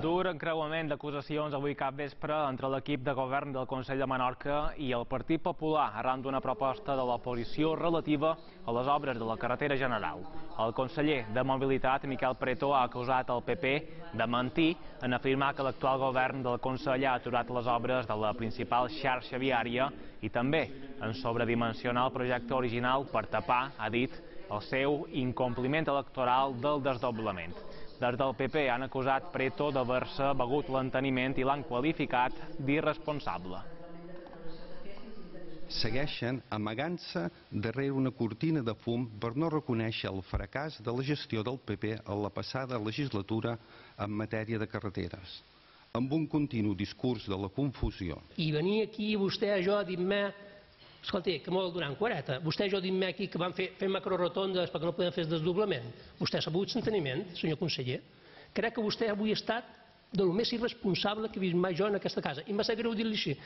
Dur encreuament d'acusacions avui capvespre entre l'equip de govern del Consell de Menorca i el Partit Popular arran d'una proposta de l'oposició relativa a les obres de la carretera general. El conseller de Mobilitat, Miquel Preto, ha acusat el PP de mentir en afirmar que l'actual govern del Consell ha aturat les obres de la principal xarxa viària i també en sobredimensionar el projecte original per tapar, ha dit, el seu incompliment electoral del desdoblament. Des del PP han acusat Preto d'haver-se begut l'enteniment i l'han qualificat d'irresponsable. Segueixen amagant-se darrere una cortina de fum per no reconèixer el fracàs de la gestió del PP a la passada legislatura en matèria de carreteres, amb un continu discurs de la confusió. I venir aquí vostè a jo a dir-me, escolti, que molt donant quareta, vostè a jo dir-me aquí que van fer macrorotondes perquè no podem fer el desdoblament. Vostè s'ha begut l'enteniment, senyor conseller? Crec que vostè avui ha estat del més irresponsable que he vist mai jo en aquesta casa, i em va ser greu dir-li així.